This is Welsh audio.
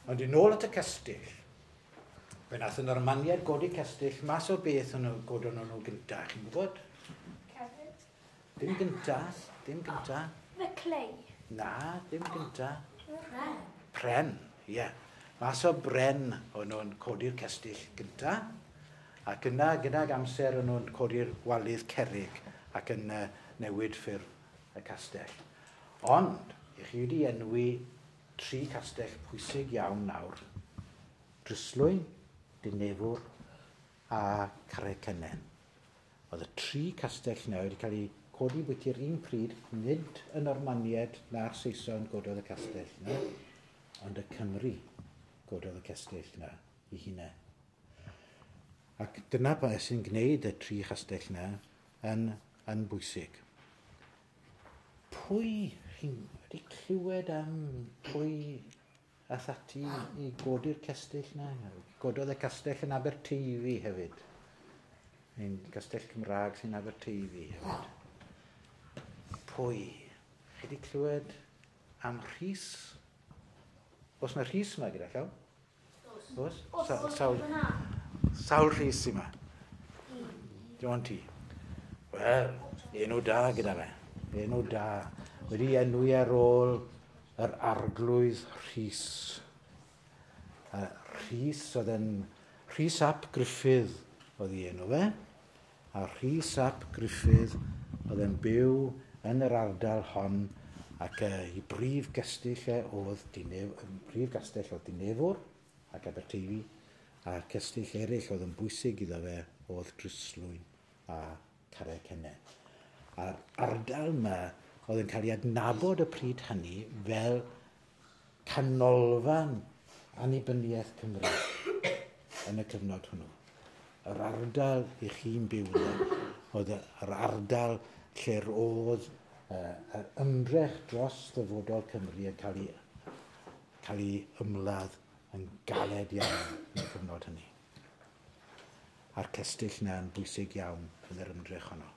Ond yn ôl at y cestyll, fe nath y Normaniaid godi cestyll mas o beth o'n nhw godon nhw gynta, chi'n gwybod? Cerrig. Dim gynta, dim gynta. The clay. Na, dim gynta. Pren. Pren, ie. Yeah. Mas o bren o'n nhw'n codi'r cestyll gynta, ac yna gydag amser o'n nhw'n codi'r walydd cerrig ac yn newid ffurf y castell. Ond, i chi wedi enwi 3 castell pwysig iawn nawr. Dryslwyn, Dinefwr a Carreg Cennen. Oedd y 3 castell yna wedi cael eu codi bwyty'r un pryd, nid y Normaniaid na'r Saeson gododd y castell yna, ond y Cymry gododd y castell yna i hunain. Ac dyna beth sy'n gwneud y 3 chastell yna yn bwysig. Pwy chi'n wedi clywed am pwy ath ati i godi'r cestyll yna? Gododd y castell yn Aberteifi hefyd. Ein castell Cymraeg sy'n Aberteifi hefyd. Pwy? Chi wedi clywed am Rhys? Oes yna Rhys yma gyda llaw? Oes? Sawl Rhys sy'n yma? Dim ond ti. Wel, enw da gyda fe. Enw da. Wedi enwi ar ôl yr arglwydd Rhys. Rhys oedd yn... Rhys ap Gruffydd oedd ei enw fe. A Rhys ap Gruffydd oedd yn byw yn yr ardal hon ac ei brif gestyll e oedd prif gastell oedd Dinefwr ac Aberteifi, a'r cestyll eraill oedd yn bwysig iddo fe oedd Dryslwyn a Carreg Cennen. A'r ardal yma oedd yn cael ei adnabod y pryd hynny fel canolfan annibyniaeth Cymru yn y cyfnod hwnnw. Yr ardal i chi'n byw yna oedd yr ardal lle'r oedd yr ymdrech dros ddyfodol Cymru yn cael ei ymladd yn galed iawn yn y cyfnod hynny. A'r cestyll yna yn bwysig iawn yn yr ymdrech honno.